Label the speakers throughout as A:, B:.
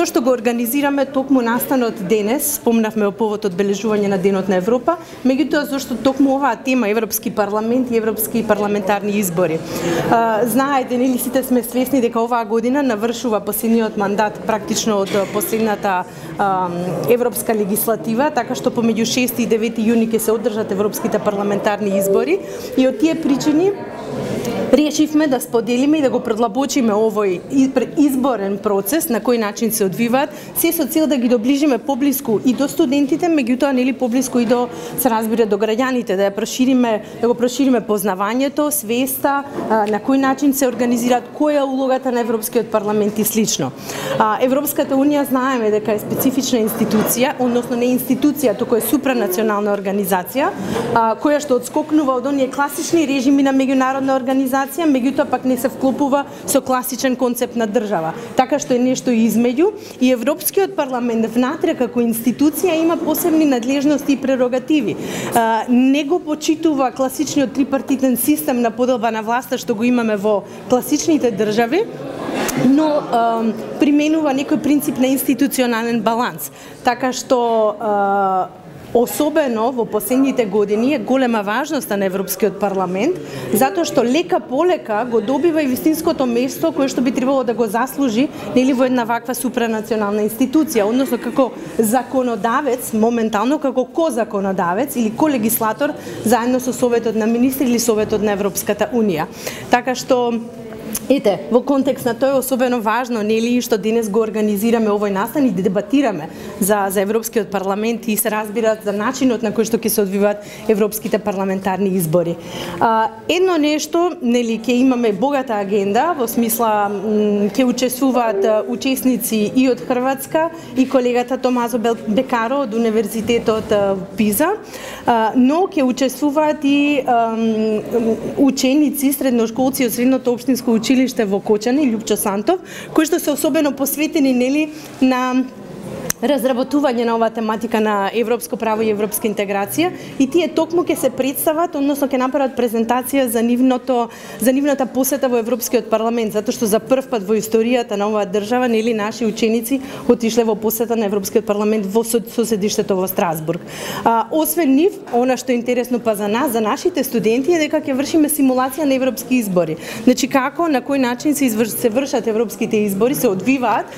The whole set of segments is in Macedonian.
A: Зошто го организираме токму настанот денес? Спомнавме о повод одбележување на Денот на Европа, меѓутоа зошто токму оваа тема Европски парламент и европски парламентарни избори. Знаете, нели сите сме свесни дека оваа година навршува последниот мандат практично од последната европска легислатива, така што помеѓу 6 и 9 јуни ќе се одржат европските парламентарни избори и од тие причини решивме да споделиме и да го предлабочиме овој изборен процес, на кој начин се одвиваат, се со цел да ги доближиме поблиску и до студентите, меѓутоа нели поблиску и до, се разбира, до граѓаните, да го прошириме познавањето, свеста, на кој начин се организираат, која е улогата на Европскиот парламент и слично. Европската унија знаеме дека е специфична институција, односно не институција, туку е супранационална организација, која што одскокнува од оние класични режими на меѓународна организација, меѓутоа пак не се вклопува со класичен концепт на држава. Така што е нешто измеѓу и Европскиот парламент внатре како институција има посебни надлежности и прерогативи. Не го почитува класичниот трипартитен систем на поделба на власта што го имаме во класичните држави, но применува некој принцип на институционален баланс. Така што особено во последните години е голема важноста на Европскиот парламент, затоа што лека полека го добива и вистинското место кое што би требало да го заслужи нели во една ваква супранационална институција, односно како законодавец, моментално како козаконодавец или колегислатор заедно со Советот на министри или Советот на Европската унија. Така што ете, во контекст на тоа е особено важно, нели, што денес го организираме овој настан и дебатираме за Европскиот парламент и се разбира за начинот на кој што ќе се одвиваат европските парламентарни избори. Едно нешто, нели, ќе имаме богата агенда, во смисла ќе учествуваат учесници и од Хрватска и колегата Томазо Бекаро од Универзитетот Пиза, но ќе учествуваат и ученици, средношколци од Средното општинско училиште во Кочани, Љупчо Сантов, кои што се особено посветени нели на разработување на оваа тематика на европско право и европска интеграција и тие токму ќе се представат, односно ќе направат презентација за нивната посета во Европскиот парламент, затоа што за прв пат во историјата на оваа држава нели наши ученици отишле во посета на Европскиот парламент во соседиштето во Страсбург. Освен нив, она што е интересно па за нас, за нашите студенти е дека ќе вршиме симулација на европски избори. Значи како, на кој начин се вршат европските избори, се одвиваат,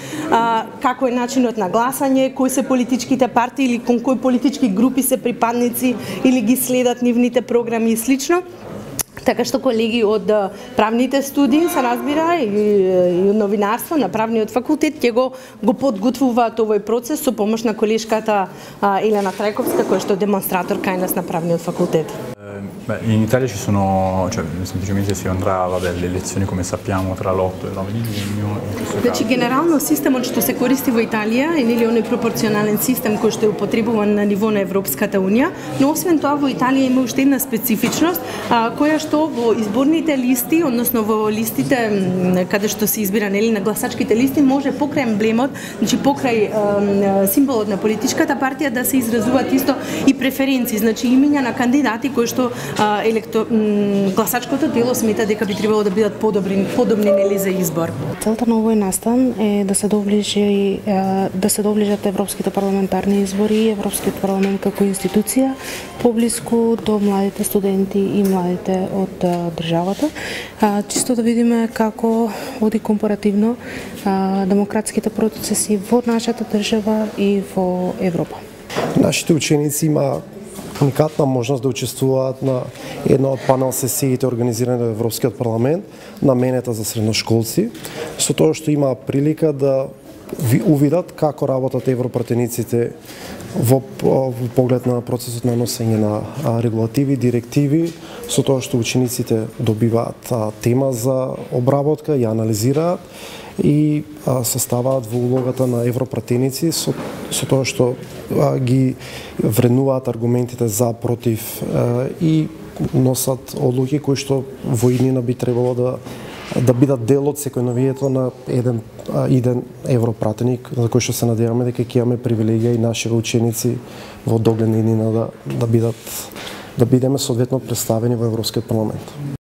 A: како е начинот на гласање, кои се политичките партии или кон кои политички групи се припадници или ги следат нивните програми и слично. Така што колеги од правните студии, се разбира, и од новинарство на правниот факултет ќе го подготвуваат овој процес со помош на колешката Елена Трајковска, која што е демонстратор кај нас на правниот факултет.
B: In Italia ci sono, cioè semplicemente si andrà, vabbè, le elezioni come sappiamo tra l'8 e il 9 di giugno.
A: Значи генерално системот што се користи во Италија е нели оној пропорционален систем кој што е употребуван на ниво на Европската унија, но освен тоа во Италија има уште една специфичност која што во изборните листи, односно во листите каде што се избира нели на гласачките листи може покрај емблемот, значи покрај символот на политичката партија да се изразуваат исто и преференции, значи имиња на кандидати кои што гласачкото дело смета дека би требало да бидат подобни нели за избор.
C: Целта на овој настан е да се доближат европските парламентарни избори и Европскиот парламент како институција поблиску до младите студенти и младите од државата, чисто да видиме како оди компаративно демократските процеси во нашата држава и во Европа.
D: Нашите ученици има уникатна можност да учествуваат на една од панел сесиите организирани во Европскиот парламент, наменета за средношколци, со тоа што има прилика да увидат како работат европратениците во поглед на процесот на носење на регулативи, директиви, со тоа што учениците добиваат тема за обработка, ја анализираат и се ставаат во улогата на европратеници со тоа што ги вреднуваат аргументите за, против и носат одлуки кои што во иднина би требало да бидат дел од секојновието на еден европратеник, за кој што се надеваме дека ќе имаме привилегија и нашите ученици во догледна иднина да бидеме соодветно представени во Европскиот парламент.